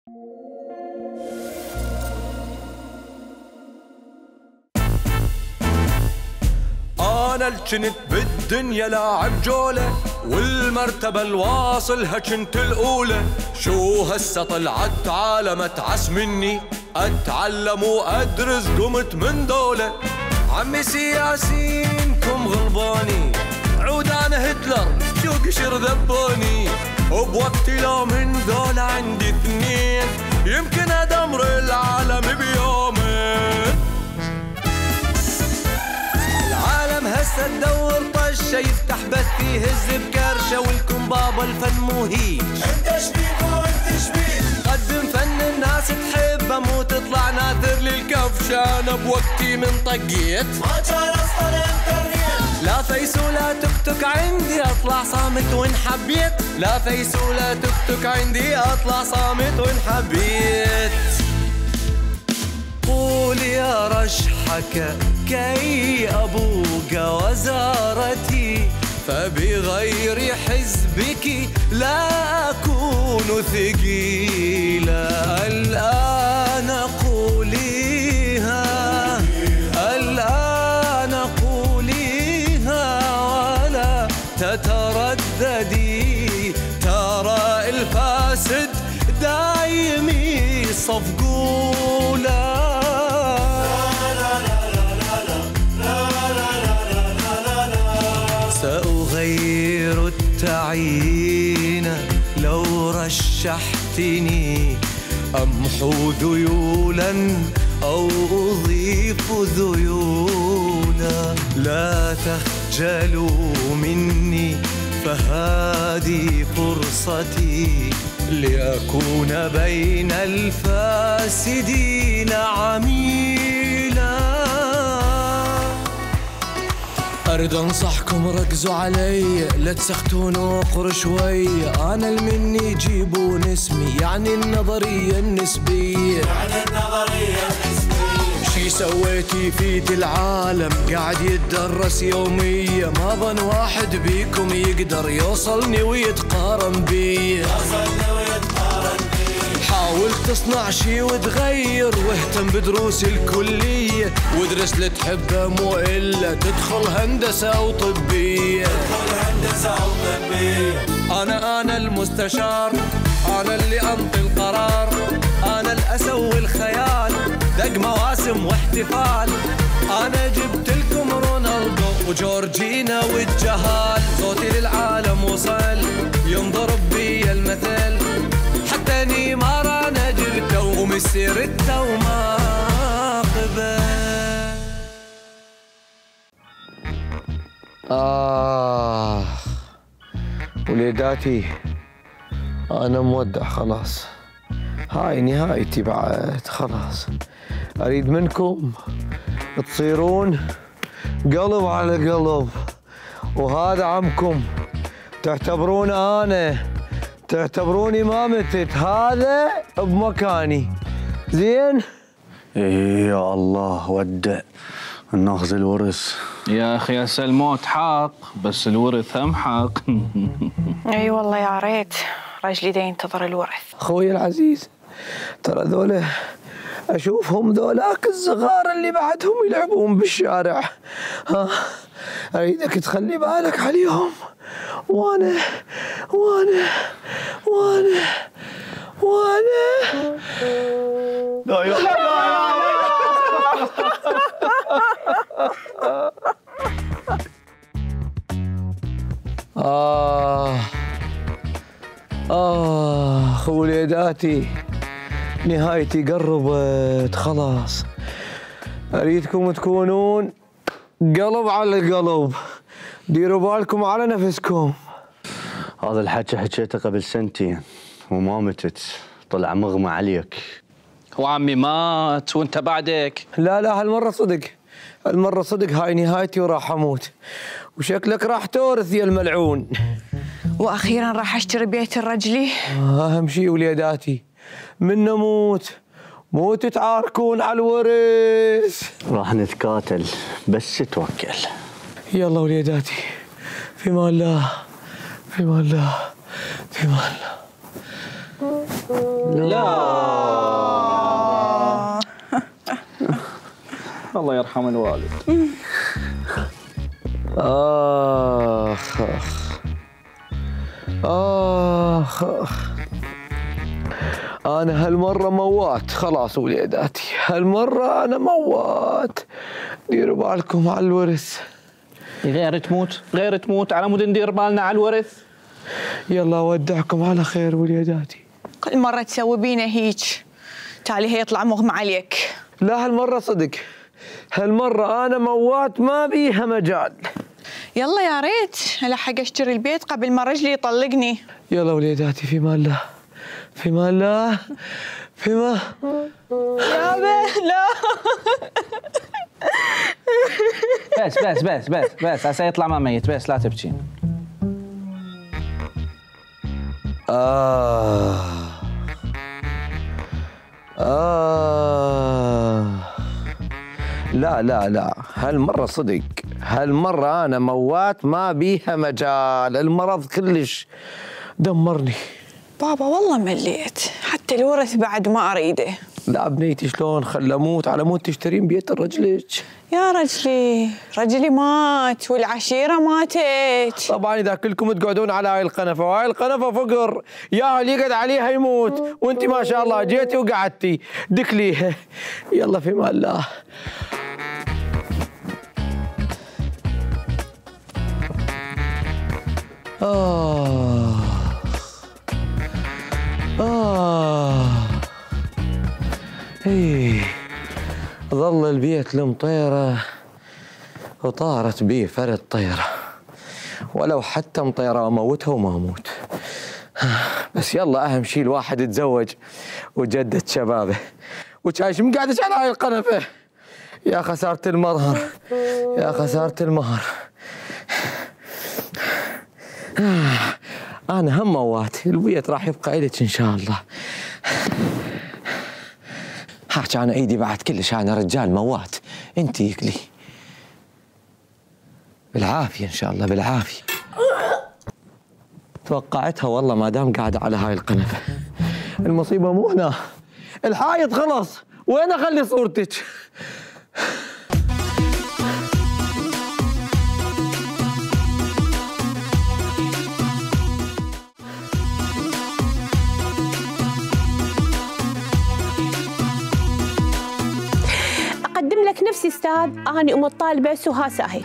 أنا الجنت بالدنيا لاعب جولة، والمرتبة الواصلها جنت الأولى. شو هسه طلعت عالم أتعس مني، أتعلم وأدرس قمت من دولة. عمي سياسينكم غلباني، عود أنا هتلر شو قشر ذبوني. وبوقتي لو من دولة عندي اثنين، يمكن أدمر العالم بيومين. العالم هسه تدور طشة، يفتح بث يهز بكرشة، والكم بابا الفن مهيج. انت شبيك وانت شبيك، قدم فن الناس تحبه، مو تطلع ناثر للكفشة. انا بوقتي من طقيت ما كان اصلا انترنت، لا فيس ولا تكتك عندي اطلع صامت وان حبيت. لا فيس ولا تكتك عندي اطلع صامت وان حبيت. قول يا رشحك كي أبوق وزارتي، فبغير حزبك لا أكون ثقيلا. الآن قوليها، الآن قوليها ولا تترددي. ترى الفاسد دايم يصفقولا. سأغير التعيين لو رشحتني، أمحو ذيولا أو أضيف ذيولا. لا تخجلوا مني فهذه فرصتي، لأكون بين الفاسدين عميلا. أريد أنصحكم ركزوا علي، لا تسختون وقر شوي. أنا المني جيبون اسمي، يعني النظرية النسبية. يعني النظرية النسبية. شي سويتي فيت العالم قاعد يتدرس يوميا، ما ظن واحد بيكم يقدر يوصلني ويتقارن بي. يوصلني ويتقارن بي. حاول تصنع شي وتغير، واهتم بدروس الكلية، وادرس اللي تحبه مو إلا تدخل هندسة أو طبية. تدخل هندسة أو طبية. أنا المستشار، أنا اللي أنطي القرار، أنا الأسوي الخيال، دق مواسم واحتفال. أنا جبت لكم رونالدو وجورجينا والجهال. صوتي للعالم وصل، ينضرب بي المثل، حتى نيمار أنا جبته وميسي رده وما قبل. وليداتي أنا مودع خلاص، هاي نهايتي بعد خلاص. أريد منكم تصيرون قلب على قلب، وهذا عمكم تعتبرون أنا، تعتبروني ما متت، هذا بمكاني زين. يا الله ودع ناخذ الورث. يا اخي هسه الموت حق، بس الورث هم حق. اي والله يا ريت رجلي دا ينتظر الورث. اخوي العزيز، ترى ذولا اشوفهم ذولاك الصغار اللي بعدهم يلعبون بالشارع، ها اريدك تخلي بالك عليهم، وانا لا يا وليداتي نهايتي قربت خلاص. اريدكم تكونون قلب على القلب، ديروا بالكم على نفسكم. هذا الحكي حكيته قبل سنتين وما متت، طلع مغمى عليك. وعمي مات وانت بعدك. لا هالمرة صدق، هالمرة صدق، هاي نهايتي وراح اموت، وشكلك راح تورث يا الملعون. واخيرا راح اشتري بيت الرجلي. اهم شيء وليداتي من نموت مو تتعاركون على الورث. راح نتقاتل بس توكل. يلا وليداتي، في مان الله، في مان الله، في مان الله. لا الله يرحم الوالد. آخ آخ آخ أنا هالمرة موات خلاص وليداتي، هالمرة أنا موات. ديروا بالكم على الورث. غير تموت على مود ندير بالنا على الورث. يلا أودعكم على خير وليداتي. كل مرة تسوي بينا هيك تالي هيطلع مغمى عليك. لا هالمرة صدق، هالمرة أنا موات ما بيها مجال. يلا يا ريت ألحق أشتري البيت قبل ما رجلي يطلقني. يلا وليداتي في مان الله، في مان الله، في مان. يا لا بس هسه يطلع ما ميت، بس لا تبكي. لا هالمرة صدق، هالمرة أنا موات ما بيها مجال. المرض كلش دمرني. بابا والله مليت، حتى الورث بعد ما أريده. لا بنيتي شلون خل أموت على مود تشترين بيت رجلك. يا رجلي مات والعشيرة ماتت. طبعا إذا كلكم تقعدون على هاي القنفة، وهاي القنفة فقر، يا اللي يقعد عليها يموت، وانت ما شاء الله جيتي وقعدتي دكليها. يلا في مال الله. ايه ظل البيت المطيرة وطارت بيه فرد طيرة، ولو حتى مطيرة اموتها وما اموت. بس يلا اهم شيء الواحد يتزوج وجدد شبابه. وشايش مقعدش على هاي القنفة. يا خسارة المظهر، يا خسارة المهر. أنا هم موات، البيت راح يبقى إلك إن شاء الله. حاج أنا إيدي بعد كلش، أنا رجال موات، أنت يكلي. بالعافية إن شاء الله بالعافية. توقعتها والله ما دام قاعدة على هاي القنفة. المصيبة مو هنا، الحايط خلص، وين أخلي صورتك؟ أقدم لك نفسي أستاذ، أنا أم الطالبة سهى ساهي.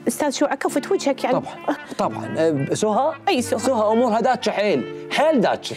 أستاذ شو عكفت وجهك يعني؟ طبعا سهى؟ أي سهى؟ سهى أمورها داتشة حيل داتشة.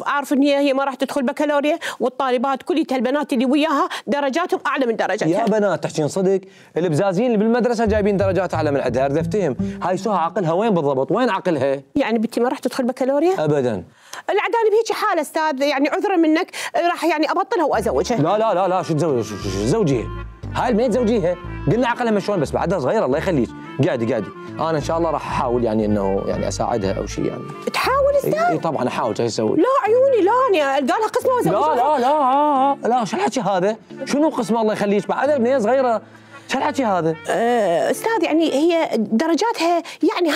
أعرف إن هي ما راح تدخل بكالوريا، والطالبات كليتها البنات اللي وياها درجاتهم أعلى من درجاتها. يا بنات تحكين صدق؟ البزازين اللي بالمدرسة جايبين درجات أعلى من عندها، أريد أفتهم، هاي سهى عقلها وين بالضبط؟ وين عقلها؟ يعني بنتي ما راح تدخل بكالوريا؟ أبداً. العدالة بهيك حالة أستاذ، يعني عذرا منك راح يعني أبطلها وأزوجها. لا شو تزوجيها؟ هاي البنت زوجيها، قلنا عقلها مشلون بس بعدها صغيرة الله يخليك، قاعدي أنا إن شاء الله راح أحاول يعني إنه يعني أساعدها أو شيء يعني. تحاول أستاذ؟ إي طبعا أحاول، شو أسوي؟ لا عيوني لا، أنا ألقى قسمة وأزوجها. لا شو الحكي هذا؟ شنو قسمه الله يخليك؟ بعدها بنية صغيرة، شو الحكي هذا؟ أستاذ يعني هي درجاتها يعني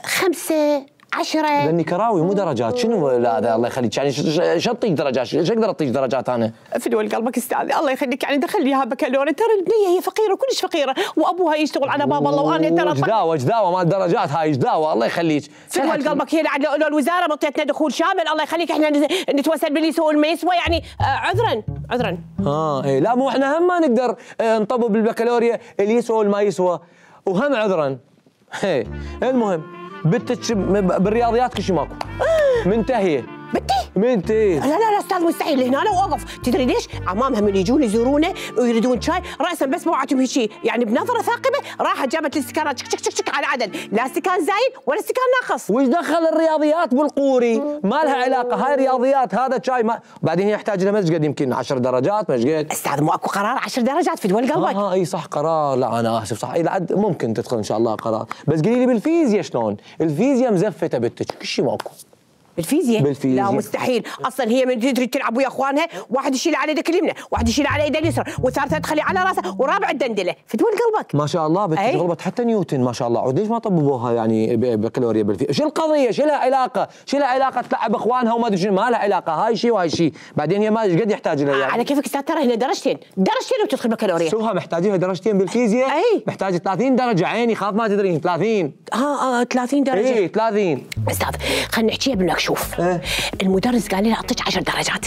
5 10. لاني كراوي مو درجات. شنو هذا الله يخليك؟ يعني شو اطيق درجات؟ شو اقدر اطيق درجات انا؟ فدوى قلبك استاذ الله يخليك، يعني دخل لي اياها بكالوريا، ترى البنيه هي فقيره كلش فقيره، وابوها يشتغل على باب الله، وانا ترى جداوه مال درجات هاي جداوه الله يخليك. فدوى قلبك هي لو الوزاره مطيتنا دخول شامل الله يخليك، احنا نتوسل باللي يسوي ما يسوى يعني عذرا. اي لا مو احنا هم ما نقدر نطبب بالبكالوريا اللي يسوى والما يسوى، وهم عذرا. المهم بنتك بالرياضيات كل شيء ماكو، منتهيه. بنتي لا استاذ مستحيل، هنا انا اوقف. تدري ليش؟ عمامها من يجون يزورونه ويريدون شاي راسا بس موعتهم هيك يعني بنظره ثاقبه، راحت جابت الاستكانات شك على عدد، لا استكان زايد ولا استكان ناقص. وش دخل الرياضيات بالقوري؟ ما لها علاقه، هاي رياضيات هذا شاي ما بعدين هي يحتاج لها مزقد يمكن 10 درجات مزقد. استاذ مو اكو قرار 10 درجات في دول قلبك؟ اي صح قرار، لا انا اسف صح، الى عد ممكن تدخل ان شاء الله قرار، بس قولي لي بالفيزياء شلون؟ الفيزياء مزفته بنتك كل شيء ماكو. بالفيزياء؟ بالفيزياء. لا مستحيل، اصلا هي من تريد تلعب ويا اخوانها، واحد يشيل على يدك اليمنى، واحد يشيل على يده اليسرى، والثالثه تخليه على راسه، ورابع الدندله، فتول قلبك. ما شاء الله بنتك غلبت حتى نيوتن ما شاء الله، ليش ما طببوها يعني بكالوريا بالفيزياء؟ شو القضيه؟ شو لها علاقه؟ شو لها علاقه تلعب اخوانها وما ادري شنو؟ ما لها علاقه، هاي شيء وهاي شيء، بعدين هي ما ايش قد يحتاج لها يعني. على كيفك استاذ، ترى هنا درجتين وتدخل بكالوريا. شوها محتاجين درجتين بالفيزياء؟ اي محتاج 30 درجه عيني، خاف ما تدرين 30. 30 درجه. اي 30. استاذ خلينا نحكيها بالمكشوف. المدرس قال لي اعطيك 10 درجات،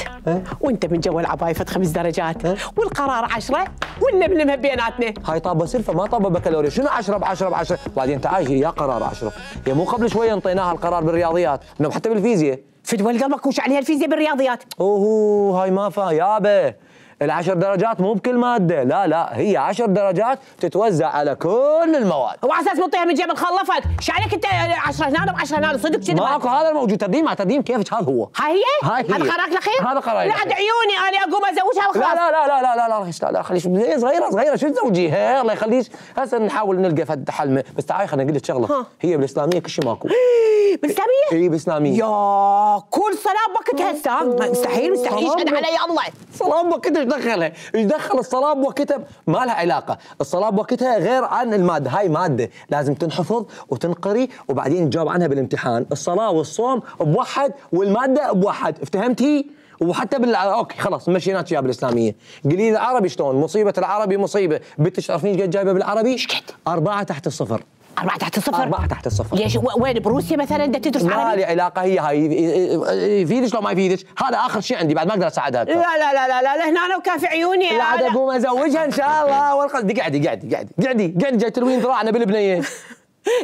وانت من جو العبايفه 5 درجات، والقرار 10 ونلملمها بيناتنا. هاي طابه سلفه ما طابه بكالوريا، شنو 10 ب10 ب10؟ بعدين تعال هي قرار 10، هي مو قبل شويه انطيناها القرار بالرياضيات انه حتى بالفيزياء. فدول قلبك وش عليها الفيزياء بالرياضيات؟ هاي ما فا يابا، ال10 درجات مو بكل ماده، لا هي 10 درجات تتوزع على كل المواد. هو على اساس منطيها من جيب خلفت، ايش عليك انت 10 هنا و10 هنا صدق كذي؟ ماكو هذا الموجود، تقديم مع تقديم كيفك هذا هو. هاي هي؟ هاي هي. هذا قرارك الاخير؟ هذا قراري لا عاد عيوني انا اقوم ازوجها وخلاص. لا خليش صغيره شو تزوجيها؟ الله يخليك هسه نحاول نلقى فد حل، بس تعالي خليني اقول لك شغله، هي بالاسلاميه كل شيء ماكو. بالاسلاميه؟ اي بالاسلاميه. يا كل صلاه بوقتها استاذ، مستحيل يشهد علي الله. الصلاه بوقتها ايش دخلها؟ ايش دخل الصلاه بوقتها؟ ما لها علاقه، الصلاه بوقتها غير عن الماده، هاي ماده لازم تنحفظ وتنقري وبعدين تجاوب عنها بالامتحان، الصلاه والصوم بوحد والماده بوحد، افتهمتي؟ وحتى اوكي خلاص مشيناك اياها بالاسلاميه، قولي لي العربي شلون؟ مصيبه العربي مصيبه، بنتك تعرفين ايش قد جايبه بالعربي؟ ايش قد؟ 4 تحت الصفر. 4 تحت الصفر؟ 4 تحت الصفر. ليش وين بروسيا مثلا بدها تدرس عربي؟ ما لي علاقه، هي هاي يفيدش لو ما يفيدش، هذا اخر شيء عندي بعد ما اقدر اساعدها. لا هنا انا وكافي عيوني. لا عاد اقوم ازوجها ان شاء الله والقصد. قعدي جاي تلوين ذراعنا بالبنيه.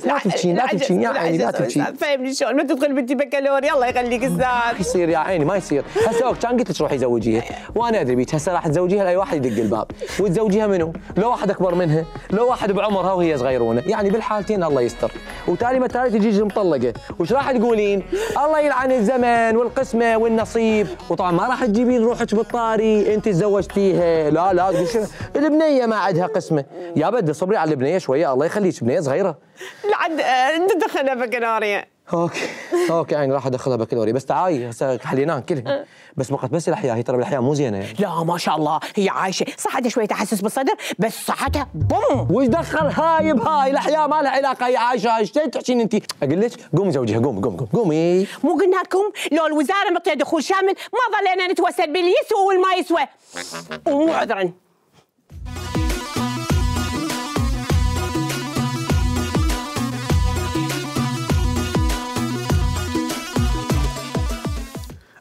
لا تبكين يا عيني لا تبكين. فهمني شلون ما تدخل بنتي بكالوريا الله يخليك استاذ. ما يصير يا عيني ما يصير، هسه كان قلت لك روحي زوجيها وانا ادري بيك، هسه راح تزوجيها لاي واحد يدق الباب، وتزوجيها منو؟ لو واحد اكبر منها، لو واحد بعمرها وهي صغيرونه، يعني بالحالتين الله يستر، وتالي ما تالي تجي مطلقه، وش راح تقولين؟ الله يلعن الزمن والقسمه والنصيب، وطبعا ما راح تجيبين روحك بالطاري انت تزوجتيها، لا تقول البنيه ما عندها قسمه، يا بدي صبري على البنيه شويه الله يخليك، بنيه صغيره. لعد انت دخلها بكالوريا. اوكي يعني راح ادخلها بكالوريا، بس تعالي هسه حليناهم كلهم، بس فقط بس الاحياء، هي ترى بالاحياء مو زينه يعني. لا ما شاء الله هي عايشه، صح عندها شويه تحسس بالصدر بس صحتها بوم. وش دخل هاي بهاي؟ الاحياء ما لها علاقه، هي عايشه ايش تحكين انت؟ اقول لك قومي زوجيها، قومي. مو قلنا لكم لو الوزاره معطيه دخول شامل ما ظلينا نتوسل باللي يسوى والما يسوى، ومو عذرا.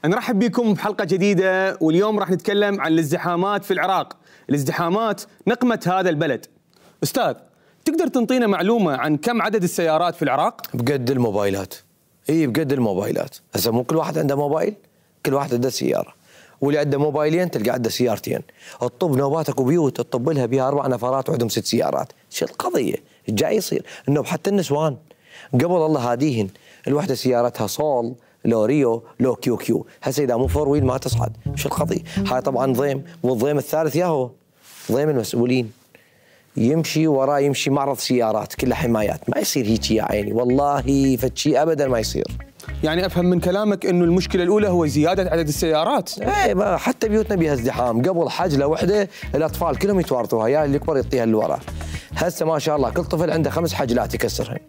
نرحب بكم بحلقة جديدة، واليوم راح نتكلم عن الازدحامات في العراق، الازدحامات نقمة هذا البلد. أستاذ تقدر تنطينا معلومة عن كم عدد السيارات في العراق؟ بقد الموبايلات. بقد الموبايلات، هسه مو كل واحد عنده موبايل، كل واحد عنده سيارة، واللي عنده موبايلين تلقى عنده سيارتين، الطب نوباتك وبيوت تطب لها بها 4 نفرات وعندهم 6 سيارات، شو القضية؟ جاي يصير؟ النوب حتى النسوان قبل الله هاديهن الوحدة سيارتها صول لو ريو لو كيو، هسه اذا مو 4 ويل ما تصعد، شو القضيه؟ هاي طبعا ضيم، والضيم الثالث ياهو ضيم المسؤولين، يمشي وراه يمشي معرض سيارات كلها حمايات، ما يصير هيك يا عيني والله فد شيء ابدا ما يصير. يعني افهم من كلامك انه المشكله الاولى هو زياده عدد السيارات. حتى بيوتنا بيها ازدحام، قبل حجله وحده الاطفال كلهم يتوارثوها، يا اللي يكبر يعطيها اللي وراه. هسه ما شاء الله كل طفل عنده 5 حجلات يكسرهن.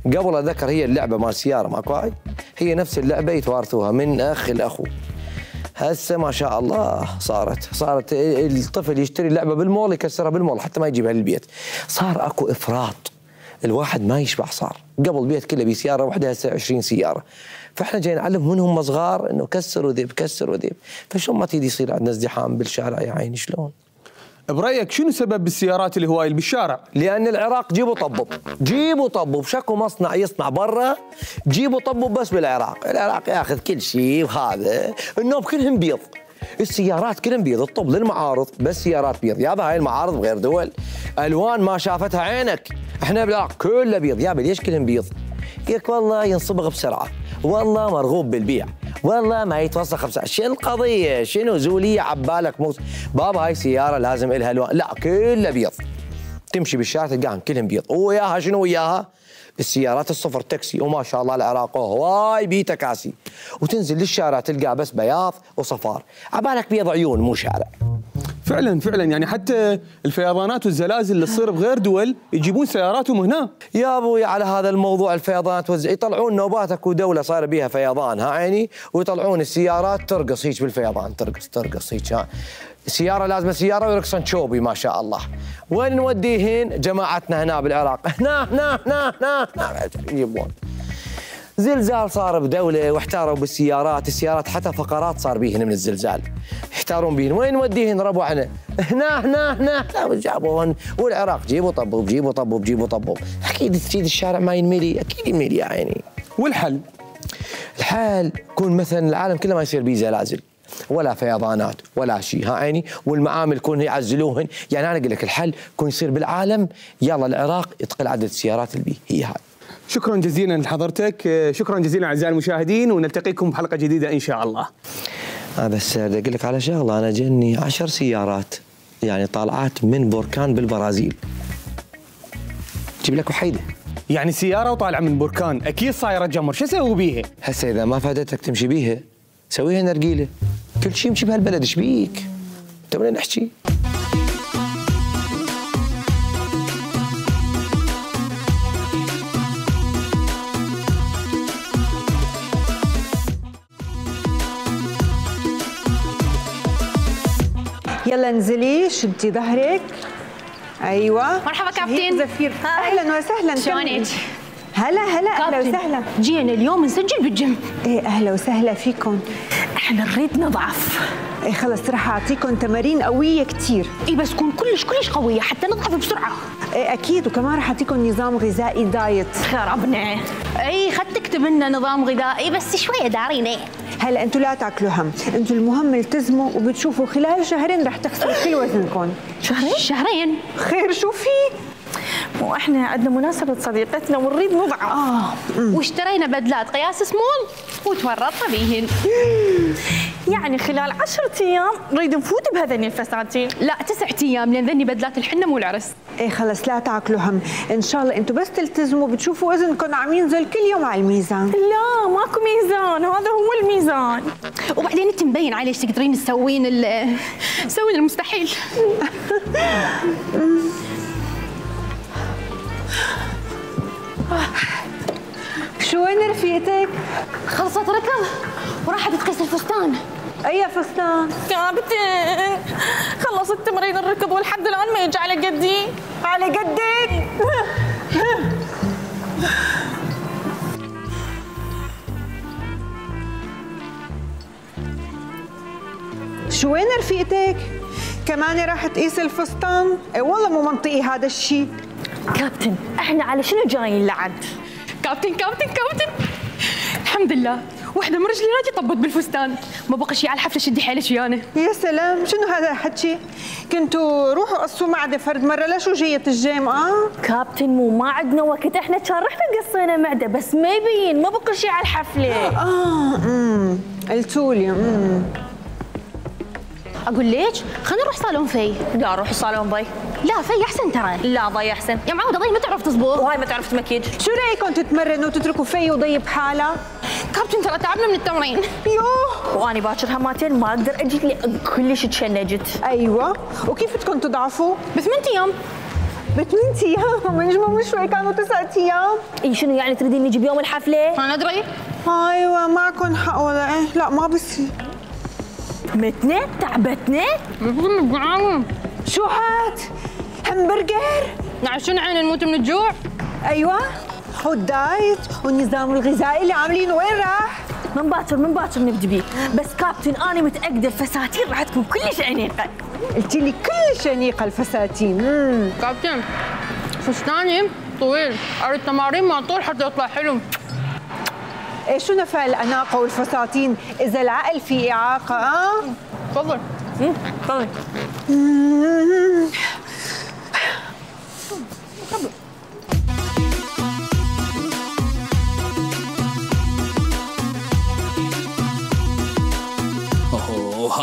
قبل اتذكر هي اللعبه مال السياره ماكو هاي، هي نفس اللعبه يتوارثوها من اخ لاخو. هسه ما شاء الله صارت الطفل يشتري اللعبه بالمول يكسرها بالمول حتى ما يجيبها للبيت، صار اكو افراط، الواحد ما يشبع صار، قبل البيت كله بسياره واحده هسه 20 سياره، فاحنا جاي نعلم من هم صغار انه كسر وذيب كسر وذيب، فشلون ما تيجي يصير عندنا ازدحام بالشارع يا عيني شلون؟ برايك شنو سبب السيارات الهوايل بالشارع؟ لان العراق جيبوا طبوا بشكو مصنع يصنع برا، جيبوا طبوا بس بالعراق، العراق ياخذ كل شيء، وهذا النوب كلهم بيض، السيارات كلهم بيض، الطب للمعارض بس سيارات بيض، يابا هاي المعارض بغير دول الوان ما شافتها عينك، احنا بالعراق كله بيض، يابا ليش كلهم بيض؟ يقولك والله ينصبغ بسرعه، والله مرغوب بالبيع، والله ما يتوسخ بسرعه، شنو القضيه؟ شنو زوليه عبالك بابا هاي سياره لازم الها الوان، لا كله بيض، تمشي بالشارع تلقاهم كلهم بيض، وياها شنو وياها؟ السيارات الصفر تاكسي، وما شاء الله العراق هواي بيه تكاسي، وتنزل للشارع تلقى بس بياض وصفار، عبالك بيض عيون مو شارع. فعلا فعلا يعني حتى الفيضانات والزلازل اللي تصير بغير دول يجيبون سياراتهم هنا. يا ابوي على هذا الموضوع الفيضانات يطلعون نوبات، اكو دوله صار بيها فيضان ها عيني، ويطلعون السيارات ترقص هيك بالفيضان، ترقص هيك، سياره لازمه سياره ويرقصن شوبي ما شاء الله. وين نوديهن جماعتنا هنا بالعراق؟ هنا يجيبون. زلزال صار بدوله واحتاروا بالسيارات، السيارات حتى فقرات صار بيهن من الزلزال، يحتارون بيهن، وين نوديهن ربعنا؟ هنا جابوهن، والعراق جيبوا طبوا، اكيد الشارع ما ينملي، اكيد ينملي يا عيني. والحل؟ الحل يكون مثلا العالم كله ما يصير بيه زلازل ولا فيضانات ولا شيء ها عيني، والمعامل يكون يعزلوهن، يعني انا اقول لك الحل يكون يصير بالعالم، يلا العراق يتقل عدد السيارات اللي بيه، هي هاي. شكرا جزيلا لحضرتك، شكرا جزيلا اعزائي المشاهدين، ونلتقيكم بحلقه جديده ان شاء الله. بس بدي اقول لك على شغله، انا جني 10 سيارات يعني طالعات من بركان بالبرازيل، جيب لك وحيده. يعني سياره وطالعه من بركان اكيد صايره جمر، شو اسوي بيها؟ هسه اذا ما فادتك تمشي بيها سويها نرجيله، كل شيء يمشي بهالبلد، ايش بيك؟ تبغى نحكي؟ يلا انزلي شدي ظهرك. ايوه مرحبا كابتن. زفير اهلا وسهلا. شلونك؟ هلا اهلا وسهلا. جينا اليوم نسجل بالجيم. ايه اهلا وسهلا فيكم. احنا نريد نضعف. ايه خلص راح اعطيكم تمارين قويه كثير. اي بس تكون كلش قويه حتى نضعف بسرعه. ايه اكيد، وكمان راح اعطيكم نظام غذائي دايت. خربنا. اي خد تكتب لنا نظام غذائي بس شويه دارينه. هلا انتم لا تاكلوا هم، انتم المهم التزموا وبتشوفوا خلال شهرين راح تخسروا كل وزنكم. شهرين؟ خير شو في؟ مو احنا عندنا مناسبة صديقتنا ونريد نضعف. واشترينا بدلات قياس سمول وتورطنا بيهن. يعني خلال 10 ايام نريد نفوت بهذين الفساتين. لا 9 ايام لان ذني بدلات الحنة مو العرس. ايه خلص لا تاكلوا هم، ان شاء الله انتم بس تلتزموا بتشوفوا وزنكم عم ينزل كل يوم على الميزان. لا ماكو ميزان، هذا هو الميزان. وبعدين انت مبين عليك تقدرين تسوين المستحيل. شو وين رفيقتك؟ خلصت ركض وراحت تقيس الفستان. اي فستان؟ كابتن خلصت تمرين الركض ولحد الان ما يجي على قدي. على قدك؟ شو وين رفيقتك؟ كمان راح تقيس الفستان؟ اي والله مو منطقي هذا الشيء. كابتن احنا على شنو جايين لعد؟ كابتن الحمد لله وحده من رجلي راجي طبت بالفستان، ما بقى شيء على الحفله، شدي حيلك ويانا. يا سلام شنو هذا الحكي؟ كنتوا روحوا قصوا معده فرد مره، لشو جايه الجيم؟ كابتن مو ما عندنا وقت، احنا كان رحنا قصينا معده بس ما يبين، ما بقى شيء على الحفله. قلتولي. اقول ليش خلينا نروح صالون في. لا روح صالون ضي. لا في احسن ترى. لا ضي احسن يا معوده، ضي ما تعرف تصبغ وهاي ما تعرف تمكيج. شو رايكم تتمرنوا وتتركوا في وضي بحالها؟ كابتن ترى تعبنا من التمرين. يوه واني باكر هماتين ما اقدر اجي لي كلش تشنجت. ايوه وكيف بدكم تضعفوا؟ ب8 ايام. ب8 ايام؟ منجمه مو شوي كانوا 9 ايام. اي شنو يعني تريدين نجي بيوم الحفله؟ ما ندري. ايوه معكم حق ولا ايه؟ لا ما بصير. متنا تعبتنا. شو هاد؟ همبرجر؟ شنو عين نموت من الجوع؟ ايوه والدايت والنظام الغذائي اللي عاملينه وين راح؟ من باكر نبدي بيه، بس كابتن انا متاكده الفساتين راح تكون كلش انيقه. قلتي لي كلش انيقه الفساتين. كابتن فستاني طويل، اريد تمارين مع طول حتى يطلع حلو. ايه شو نفع الاناقه والفساتين اذا العقل فيه اعاقه؟ تفضل. تفضل.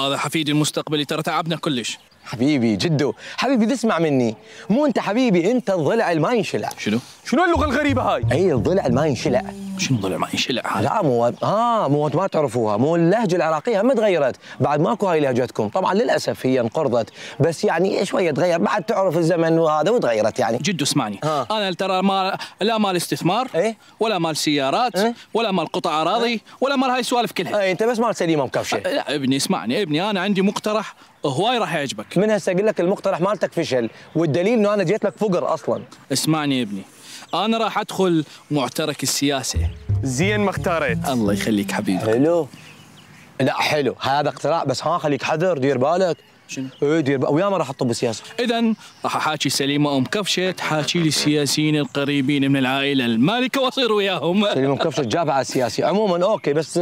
هذا حفيدي المستقبلي، ترى تعبنا كلش. حبيبي جدو، حبيبي تسمع مني، مو انت حبيبي، انت الضلع اللي ما ينشلع. شنو اللغه الغريبه هاي؟ اي الضلع اللي ما ينشلع. شنو الضلع ما ينشلع هذا؟ لا مو ما تعرفوها، مو اللهجه العراقيه هم تغيرت، بعد ماكو هاي لهجتكم، طبعا للاسف هي انقرضت، بس يعني شويه تغير، بعد تعرف الزمن وهذا وتغيرت يعني. جدو اسمعني، انا ترى لا مال استثمار، ولا مال سيارات، ولا مال قطع اراضي، ولا مال هاي السوالف كلها. انت بس مال سليمه مكفشه. لا ابني اسمعني، ابني انا عندي مقترح هواي راح يعجبك. من هسه اقول لك المقترح مالتك فشل، والدليل انه انا جيت لك فقر اصلا. اسمعني يا ابني، انا راح ادخل معترك السياسه. زين ما اختاريت. الله يخليك حبيبي. حلو. لا حلو، هذا اقتراح، بس خليك حذر، دير بالك. شنو؟ دير بالك، ويا ما راح اطب بالسياسه. اذا راح احاكي سليمه كفشه تحاكي لي السياسيين القريبين من العائله المالكه واصير وياهم. سليمه كفشه جابها على السياسي، عموما اوكي، بس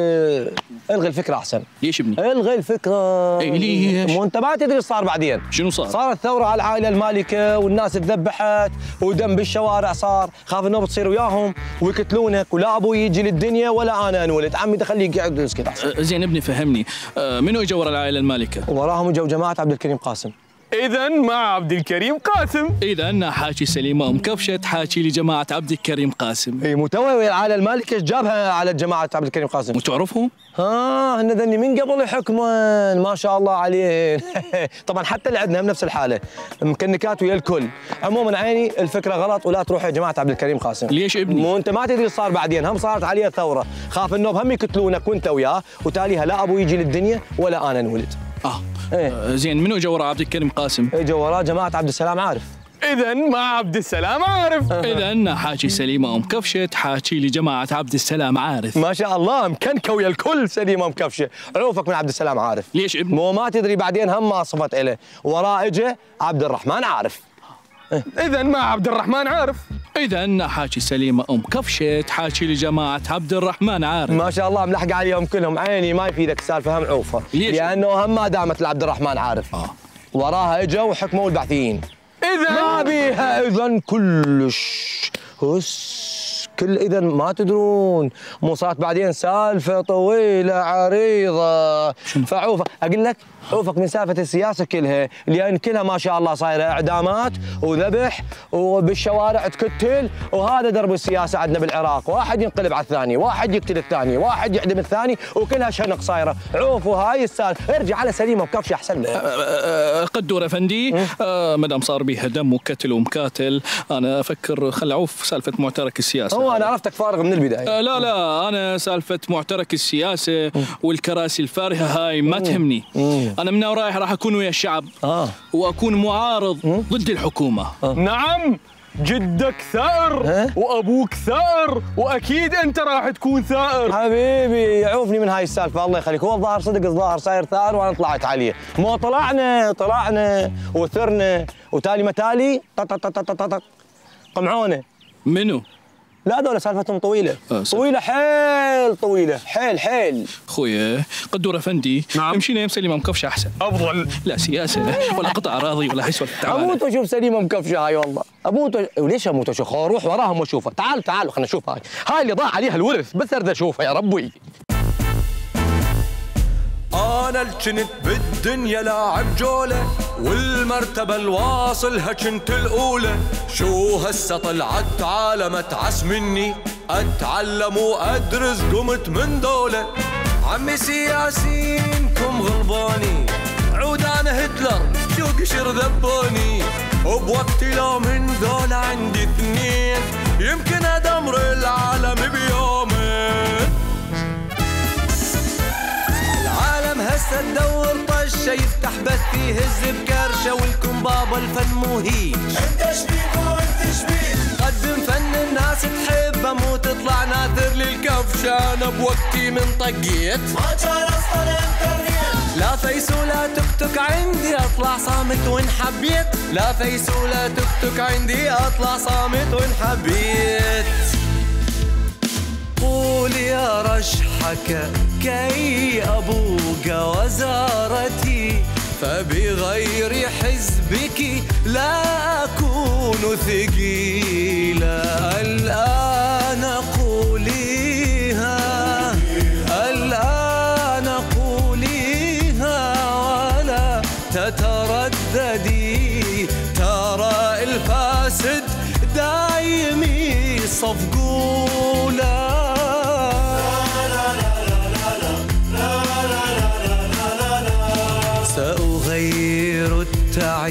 الغي الفكره احسن. ليش ابني؟ الغي الفكره. اي ليش؟ مو انت ما تدري ايش صار بعدين. شنو صار؟ صارت ثوره على العائله المالكه والناس تذبحت ودم بالشوارع صار، خاف انه بتصير وياهم ويقتلونك، ولا ابوي يجي للدنيا ولا انا انولد، عمي خليه يقعد ويسكت احسن. زين ابني فهمني، منو اجى ورا العائله المالكه؟ وراهم اجوا جماعه عبد الكريم قاسم. اذا مع عبد الكريم قاسم. اذا انا حاكي سليمه كفشه تحاكي لي جماعه عبد الكريم قاسم. اي مو توي العائله المالكه ايش جابها على جماعه عبد الكريم قاسم؟ وتعرفهم؟ هن ذني من قبل يحكمون ما شاء الله عليه. طبعا حتى اللي عندنا هم نفس الحاله، مكنكات ويا الكل. عموما عيني الفكره غلط، ولا تروح يا جماعه عبد الكريم قاسم. ليش ابني؟ مو انت ما تدري ايش صار بعدين، هم صارت عليه ثوره، خاف انه هم يقتلونك وانت وياه، وتاليها لا ابو يجي للدنيا ولا انا انولد. زين منو اجى ورا عبد الكريم قاسم؟ اجى وراه جماعه عبد السلام عارف. اذا مع عبد السلام عارف. اذا انا حاكي سليمه كفشه تحاكي لي جماعه عبد السلام عارف. ما شاء الله مكنكه ويا الكل سليمه مكفشه، عوفك من عبد السلام عارف. ليش ابني؟ مو ما تدري بعدين هم ما صفت له، وراه اجى عبد الرحمن عارف. اذا مع عبد الرحمن عارف. اذا انا حاكي سليمه كفشه تحاكي لي جماعه عبد الرحمن عارف. ما شاء الله ملحق عليهم كلهم، عيني ما يفيدك السالفه هم عوفه. ليش؟ لانه هم ما دامت لعبد الرحمن عارف. وراها اجوا وحكموا البعثيين. اذا ما بيها اذا كلش كل اذا ما تدرون، مو صارت بعدين سالفه طويله عريضه. فعوفك اقول لك، عوفك من سالفه السياسه كلها، لان كلها ما شاء الله صايره اعدامات وذبح وبالشوارع تقتل، وهذا درب السياسه عندنا بالعراق، واحد ينقلب على الثاني، واحد يقتل الثاني، واحد يعدم الثاني، وكلها شنق صايره. عوفوا هاي السالفه، ارجع على سليمه وكفشه احسن له. قدور افندي، ما دام صار بيها دم وقتل ومكاتل، انا افكر خل عوف سالفه معترك السياسه. هو انا عرفتك فارغ من البدايه. لا انا سالفه معترك السياسه والكراسي الفارهه هاي ما تهمني. انا من ورايح راح اكون ويا الشعب، واكون معارض ضد الحكومه. نعم، جدك ثائر وابوك ثائر، واكيد انت راح تكون ثائر. حبيبي يعوفني من هاي السالفه، الله يخليك، هو الظاهر صدق، الظاهر صاير ثائر وانا طلعت عليه. مو طلعنا وثرنا، وتالي متالي قمعونه. منو؟ لا دولة سالفتهم طويلة. طويلة حيل، طويلة حيل. خويا قدور افندي، نعم. مشينا يم سليمه مكفشه احسن. افضل. لا سياسه ولا قطع اراضي ولا هي سوالف. اموت واشوف سليمه مكفشه هاي والله، وليش اموت واشوف؟ خل اروح وراهم واشوفها. تعالوا خلينا نشوف هاي اللي ضاع عليها الورث، بس اريد اشوفها يا ربي. انا الجنت بالدنيا لاعب جوله، والمرتبه الواصلها كنت الاولى. شو هسه طلعت عالم اتعس مني، اتعلم وادرس قمت من دوله. عمي سياسينكم غلباني، عود انا هتلر شو قشر ذبوني. وبوقتي لو من ذولا عندي اثنين، يمكن ادمر العالم بيومين. هسه تدور طشه يفتح بث يهز بكرشه، والكم بابا الفن مو هيج. انت شبيك وانت شبيك، قدم فن الناس تحبه، مو تطلع ناثر للكفشه. انا بوقتي من طقيت ما كان اصلا انترنت. لا فيس ولا تكتك عندي، اطلع صامت وان حبيت. لا فيس ولا تكتك عندي، اطلع صامت وان حبيت. قول يا رشحك كي أبوق وزارتي، فبغير حزبك لا أكون ثقيلا. الآن قوليها، الآن قوليها،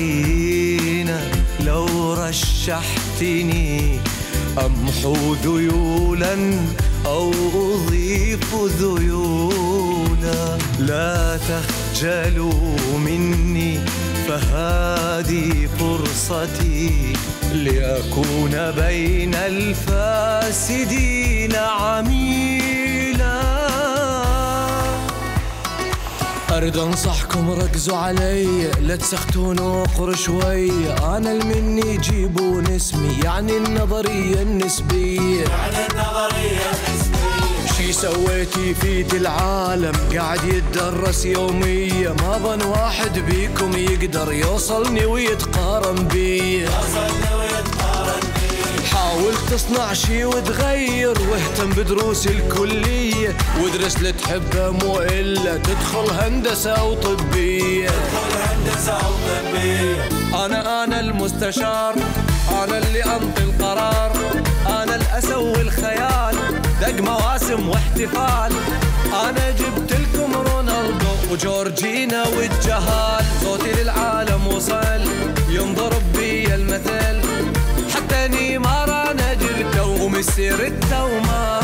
عينك لو رشحتني أمحو ذيولا أو أضيف ذيولا. لا تخجلوا مني فهذه فرصتي لأكون بين الفاسدين عميلا. أريد أنصحكم ركزوا علي لا تسختون وقر شوي. أنا المني جيبون اسمي يعني النظرية النسبية. شي سويتي في العالم قاعد يتدرس يوميا. ما ظن واحد بيكم يقدر يوصلني ويتقارن بي. حاول تصنع شي وتغير واهتم بدروس الكلية وادرس اللي تحبه مو إلا تدخل هندسة أو طبية. أنا المستشار، أنا اللي أنطي القرار، أنا اللي أسوي الخيال دق مواسم واحتفال. أنا جبت لكم رونالدو وجورجينا والجهال. صوتي للعالم وصل ينضرب بي المثل حتى نيمار أنا جبته وميسي رته وما